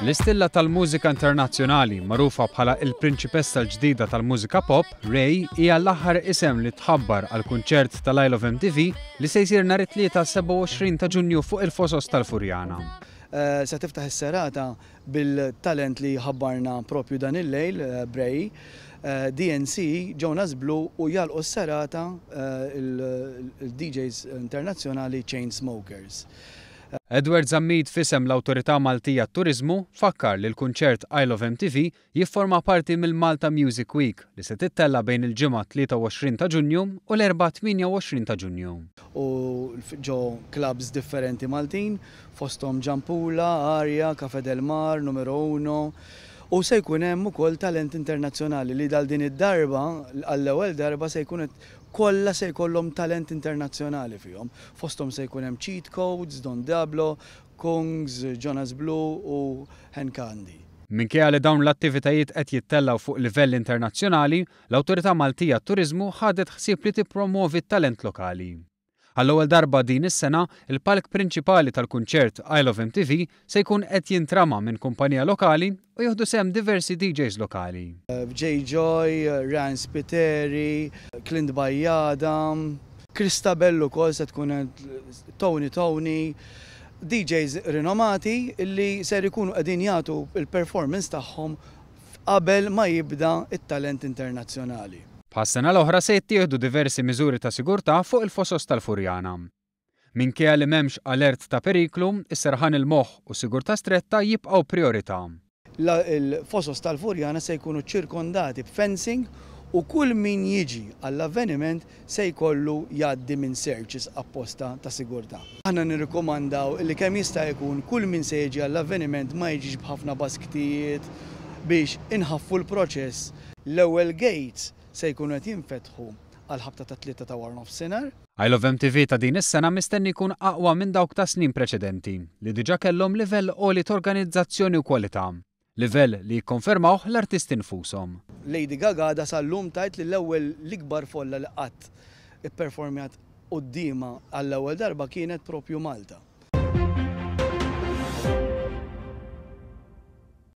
L-istilla tal-mużika internazzjonali, magħrufa bħala il-prinċipessa l-ġdida tal-mużika pop, Raye, hija l-aħħar isem li tħabbar għal kunċert tal-Isle of MTV li se jsir nhar it-Tlieta 27 ta' Ġunju fuq il-Fosos tal-Furjana. Se tiftaħ is-serata bil-talent li ħabbarna propju dan il-lejl, Bray, DNC, Jonas Blue u jagħlqu s-serata il-DJs internazzjonali Chainsmokers. Edward Zammit, f'isem l-Awtorità Maltija għat-Turiżmu, fakkar li l-kunċert Isle of MTV jifforma parti mill-Malta Music Week li se tittella' bejn il-Ġimgħa 23 ta' Ġunju u l-Erbgħa 28 ta' Ġunju. U ġo clubs differenti Maltin, fosthom Gianpula, Aria, Café del Mar, Numero Uno, u se jkun hemm ukoll talent internazzjonali li dal din id-darba, għall-ewwel darba, se jkun qed kollha se jkollhom talent internazzjonali fihom. Fosthom se jkun hemm Cheat Codes, Don Diablo, Kungs, Jonas Blue u Hen Candy. Minkejja li dawn l-attivitajiet qed jittellgħu fuq livell internazzjonali, l-Awtorità Maltija għat-Turiżmu ħadet ħsieb li tippromwovi t-talent lokali. Għall-ewwel darba din is-sena, il-palk prinċipali tal-kunċert Isle of MTV se jkun qed jintrama minn kumpanija lokali u jieħdu sehem diversi DJs lokali. Jay Joy, Ryan Spiteri, Clint Bajada, Christabel ukoll se tkun Tony Tony, DJs rinomati li ser ikunu qegħdin jagħtu l-performance tagħhom qabel ma jibda t-talent internazzjonali. Bħas-sena l-oħra, se jittieħdu diversi miżuri ta' sigurtà fuq il-Fosos tal-Furjana. Minkejja li m'hemmx alert ta' periklu, is-serħan il-moħħ u sigurtà stretta jibqgħu priorità. Il-Fosos tal-Furjana se jkunu ċirkondati b'fencing u kull min jiġi għall-avveniment se jkollu jgħaddi minn searches apposta ta' sigurtà. Aħna nirrikomandaw li kemm jista' jkun kull min se jiġi għall-avveniment ma jiġix b'ħafna basktijiet biex inħaffu l-proċess. L-ewwel gates se jkunu qed jinfetħu għall-ħabta tat-3 ta' wara nofsinhar. Isle of MTV ta' din is-sena mistenni jkun aqwa minn dawk ta' snin preċedenti, li diġà kellhom livell għoli ta' organizzazzjoni u kwalità. Livell li jikkonfermawh l-artisti nfushom. Lady Gaga għadha sal-lum tgħid li l-ewwel l-ikbar folla li qatt ipperformjat quddiemha għall-ewwel darba kienet propju Malta.